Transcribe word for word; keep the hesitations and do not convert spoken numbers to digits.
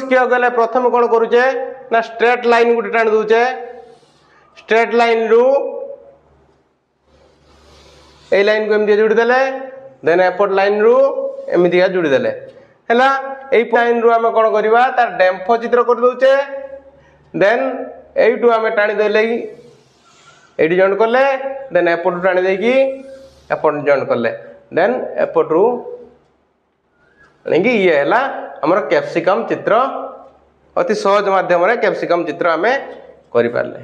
ଶିଖିବାକୁ ଗଲେ ପ୍ରଥମେ କ'ଣ କରୁଛେ ନା ଷ୍ଟ୍ରେଟ୍ ଲାଇନ୍ ଗୋଟେ ଟାଣି ଦେଉଛେ। ଷ୍ଟ୍ରେଟ୍ ଲାଇନ୍ରୁ ଏଇ ଲାଇନ୍କୁ ଏମିତି ଯୋଡ଼ି ଦେଲେ, ଦେନ୍ ଏପଟ ଲାଇନ୍ରୁ ଏମିତିକା ଯୋଡ଼ି ଦେଲେ ହେଲା। ଏଇ ଲାଇନ୍ରୁ ଆମେ କ'ଣ କରିବା? ତାର ଡେମ୍ଫ ଚିତ୍ର କରିଦେଉଛେ। ଦେନ୍ ଏଇଠୁ ଆମେ ଟାଣି ଦେଲେ, ଏଇଠି ଜଏଣ୍ଟ କଲେ, ଦେନ୍ ଏପଟୁ ଟାଣି ଦେଇକି ଏପଟ ଜଏଣ୍ଟ କଲେ, ଦେନ୍ ଏପଟରୁ ଆଣିକି ଇଏ ହେଲା ଆମର କ୍ୟାପ୍ସିକମ୍ ଚିତ୍ର। ଅତି ସହଜ ମାଧ୍ୟମରେ କ୍ୟାପ୍ସିକମ୍ ଚିତ୍ର ଆମେ କରିପାରିଲେ।